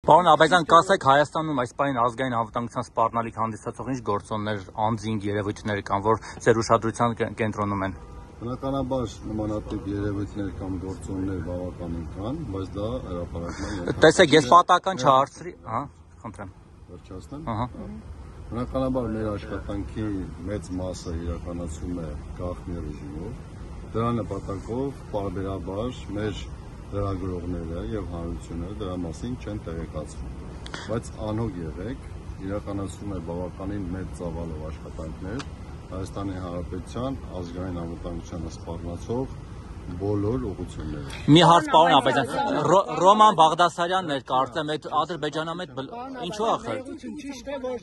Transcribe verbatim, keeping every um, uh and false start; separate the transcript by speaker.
Speaker 1: Պարոն Աբազյան, կասեք Հայաստանում այս պահին ազգային անվտանգության սպառնալիք հանդիսացող ինչ գործոններ, անձինք, երևույթներ կան, որ ձեր ուշադրության կենտրոնում են։
Speaker 2: Բնականաբար նմանատիպ երևույթներ կամ գործոններ բավականին կան, բայց դա հրապարակման
Speaker 1: Տեսեք, ես պատահական չհարցրի, հա, խնդրեմ։
Speaker 2: Վերջացնեմ։
Speaker 1: Ահա։
Speaker 2: Բնականաբար մեր աշխատանքի մեծ մասը իրականացում է գաղտնի ռեժիմով։ Դրա նպատակով պարբերաբար մեր լրագրողները եւ հանրությունը դրա մասին չեն տեղեկացվում, բայց անհոգ եղեք, իրականացում է բավականին մեծ ծավալով աշխատանքներ Հայաստանի Հանրապետության ազգային անվտանգությանը սպառնացող բոլոր ուղղությունները։
Speaker 1: Մի հարց պարոն Աբազյան, Ռոման Բաղդասարյանն էր կարծեմ այդ ադրբեջանամետ ինչու ախր։
Speaker 3: Ճիշտ է որ